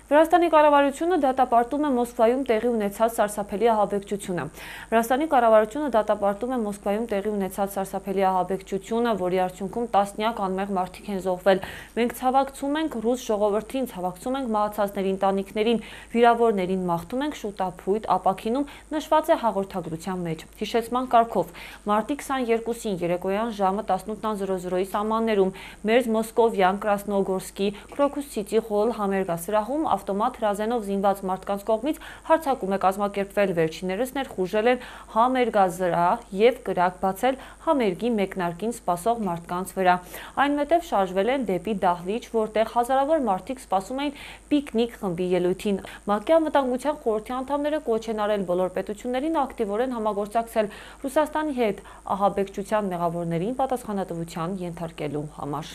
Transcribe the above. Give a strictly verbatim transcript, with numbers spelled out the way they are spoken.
Վրաստանի կառավարությունը դատապարտում է Մոսկվայում տեղի ունեցած սարսափելի ահաբեկչությունը։ Վրաստանի կառավարությունը դատապարտում է Մոսկվայում տեղի ունեցած սարսափելի ահաբեկչությունը, որի արդյունքում տասնյակ անմեղ մարդիկ են զոհվել։ Մենք ցավակցում ենք ռուս ժողովրդին, ցավակցում ենք մահացածների ընտանիքներին, վիրավորներին մաղթում ենք շուտափույթ ապաքինում, նշված է հաղորդագրության մեջ։ Հիշեցման կարգով մարտի քսաներկուսին երեկոյան ժամը տասնութ սամաններում մեր Մոսկովյան Կրասնոգորսկի Քրոքուս-Սիթի հոլ համերգասրահում ավտոմատ հրազենով զինված մարդկանց կողմից հարձակում է կազմակերպվել, վերջիններս ներխուժել են համերգազրահ եւ կրակ բացել համերգի մեկնարկին սպասող մարդկանց վրա։ Այնուհետև շարժվել են դեպի դահլիճ, որտեղ հազարավոր մարդիկ սպասում էին պիկնիկ խմբի ելույթին։ ՄԱԿ-ի անվտանգության խորհրդի անդամները կոչ են արել բոլոր պետություններին ակտիվորեն համագործակցել Ռուսաստանի հետ ահաբեկչության մեղավորներին պատասխանատվության ենթարկելու համար։